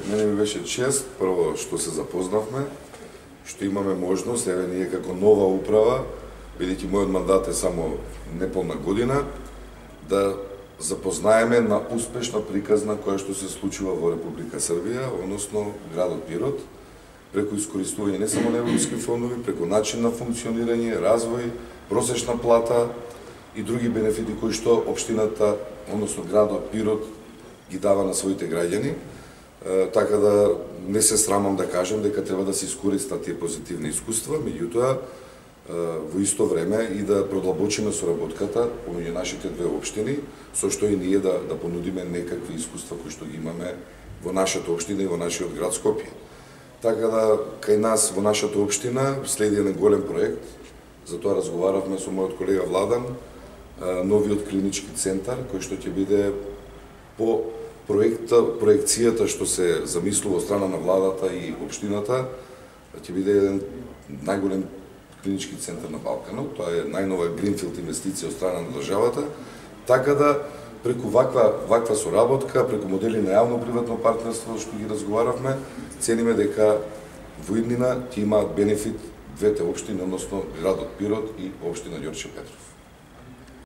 мене ми беше чест, прво што се запознавме, што имаме можност, еве ние како нова управа, бидејќи мојот мандат е само неполна година, да запознаеме на успешна приказна која што се случува во Република Србија, односно градот Пирот, преку искористување не само на европски фондови, преку начин на функционирање, развој, просечна плата и други бенефити кои што општината, односно градот Пирот ги дава на своите граѓани. Така да не се срамам да кажам дека треба да се искористат тие позитивни искуства, меѓутоа во исто време и да продлабочиме соработката помеѓу нашите две општини, со што и ние да понудиме некакви искуства кои што ги имаме во нашата општина и во нашиот град Скопје. Така да кај нас во нашата општина следи еден голем проект, затоа разговаравме со мојот колега Владан, новиот клинички центар кој што ќе биде по проекцијата што се замислува од страна на владата и општината, ќе биде еден најголем клинички центар на Балканот. Тоа е најнова гринфилд инвестиција од страна на државата, така да преку ваква соработка, преку модели на јавно-приватно партнерство што ги разговаравме, цениме дека во иднина ќе имаат бенефит двете општини, односно градот Пирот и општина Ѓорче Петров.